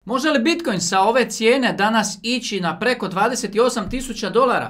Može li Bitcoin sa ove cijene danas ići na preko $28.000?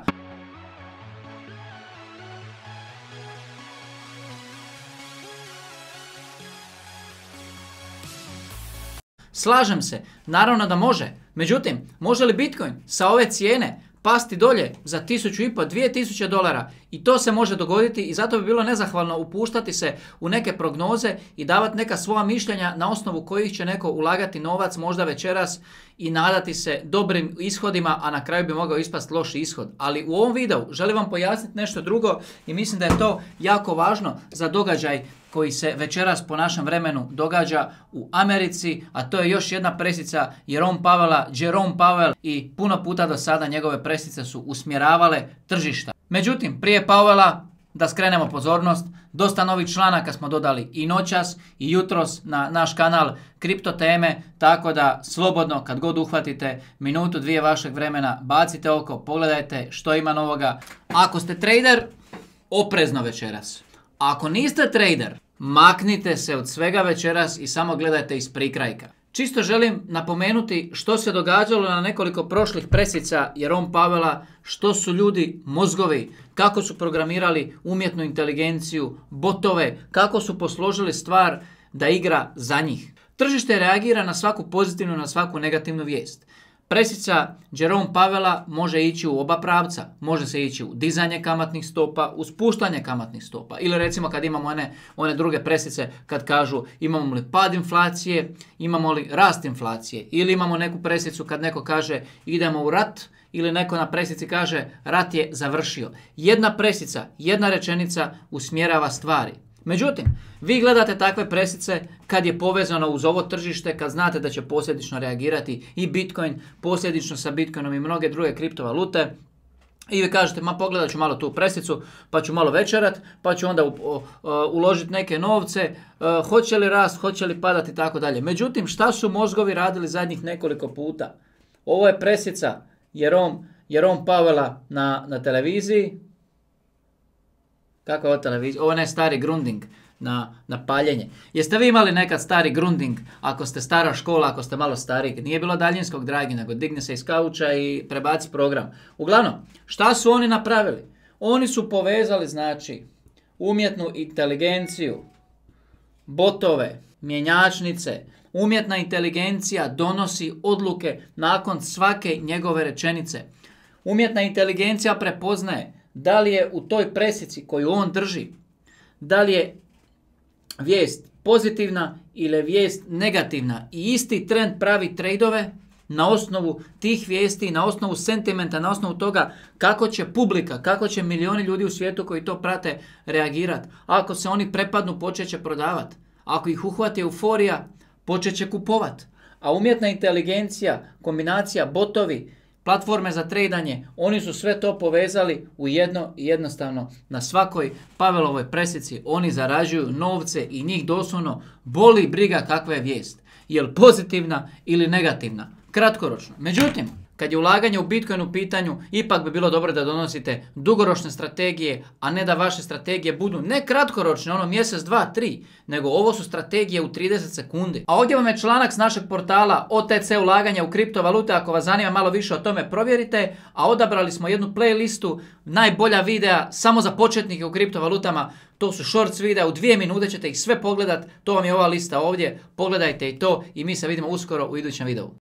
Slažem se, naravno da može. Međutim, može li Bitcoin sa ove cijene pasti dolje za $1.500, $2.000? I to se može dogoditi i zato bi bilo nezahvalno upuštati se u neke prognoze i davati neka svoja mišljenja na osnovu kojih će neko ulagati novac možda večeras i nadati se dobrim ishodima, a na kraju bi mogao ispasti loš ishod. Ali u ovom videu želim vam pojasniti nešto drugo i mislim da je to jako važno za događaj koji se večeras po našem vremenu događa u Americi, a to je još jedna presica Jerome Powella i puno puta do sada njegove presice su usmjeravale tržišta. Međutim, prije Powella, da skrenemo pozornost, dosta novih članaka smo dodali i noćas i jutros na naš kanal kripto teme, tako da slobodno kad god uhvatite minutu, dvije vašeg vremena, bacite oko, pogledajte što ima novoga. Ako ste trader, oprezno večeras. Ako niste trader, maknite se od svega večeras i samo gledajte iz prikrajka. Čisto želim napomenuti što se događalo na nekoliko prošlih presica Jerome Powella, što su ljudi mozgovi, kako su programirali umjetnu inteligenciju, botove, kako su posložili stvar da igra za njih. Tržište reagira na svaku pozitivnu, na svaku negativnu vijest. Presica Jerome Powella može ići u oba pravca. Može se ići u dizanje kamatnih stopa, u spuštanje kamatnih stopa. Ili recimo kad imamo one druge presice kad kažu imamo li pad inflacije, imamo li rast inflacije. Ili imamo neku presicu kad neko kaže idemo u rat, ili neko na presici kaže rat je završio. Jedna presica, jedna rečenica usmjerava stvari. Međutim, vi gledate takve presice kad je povezano uz ovo tržište, kad znate da će posljedično reagirati i Bitcoin, posljedično sa Bitcoinom i mnoge druge kriptovalute. I vi kažete, ma pogledat ću malo tu presicu, pa ću malo večerat, pa ću onda uložiti neke novce, hoće li rast, hoće li padati i tako dalje. Međutim, šta su mozgovi radili zadnjih nekoliko puta? Ovo je presica Jerome Powella na televiziji. Kako je ovo televizija? Ovo je stari grunding na paljenje. Jeste vi imali nekad stari grunding, ako ste stara škola, ako ste malo stariji? Nije bilo daljinskog dragi, nego digne se iz kauča i prebaci program. Uglavnom, šta su oni napravili? Oni su povezali, znači, umjetnu inteligenciju, botove, mjenjačnice. Umjetna inteligencija donosi odluke nakon svake njegove rečenice. Umjetna inteligencija prepoznaje da li je u toj presici koju on drži, da li je vijest pozitivna ili je vijest negativna. I isti trend pravi trejdove na osnovu tih vijesti, na osnovu sentimenta, na osnovu toga kako će publika, kako će milioni ljudi u svijetu koji to prate reagirati. Ako se oni prepadnu, počet će prodavati. Ako ih uhvati euforija, počet će kupovat. A umjetna inteligencija, kombinacija botovi, platforme za tradanje, oni su sve to povezali u jedno i jednostavno. Na svakoj Powellovoj presici oni zarađuju novce i njih doslovno boli briga kakva je vijest. Je li pozitivna ili negativna? Kratkoročno. Međutim, kad je ulaganje u Bitcoin u pitanju, ipak bi bilo dobro da donosite dugoročne strategije, a ne da vaše strategije budu ne kratkoročne, ono mjesec, 2, 3, nego ovo su strategije u 30 sekundi. A ovdje vam je članak s našeg portala OTC ulaganja u kriptovalute, ako vas zanima malo više o tome provjerite, a odabrali smo jednu playlistu najbolja videa samo za početnike u kriptovalutama. To su shorts videa, u 2 minute ćete ih sve pogledat, to vam je ova lista ovdje, pogledajte i to i mi se vidimo uskoro u idućem videu.